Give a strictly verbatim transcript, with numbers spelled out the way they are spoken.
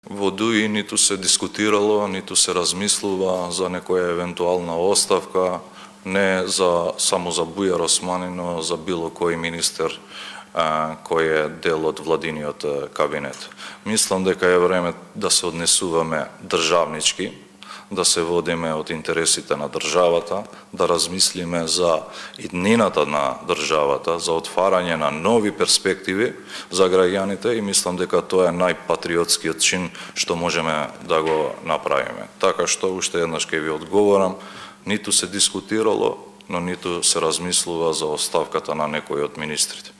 Во ДУИ ниту се дискутирало, ниту се размислува за некоја евентуална оставка, не за само за Бујар Османи, но за било кој министер а, кој е дел од владиниот кабинет. Мислам дека е време да се однесуваме државнички, да се водиме од интересите на државата, да размислиме за иднината на државата, за отварање на нови перспективи за граѓаните и мислам дека тоа е најпатриотскиот чин што можеме да го направиме. Така што уште еднаш ќе ви одговорам, ниту се дискутирало, но ниту се размислува за оставката на некој од министрите.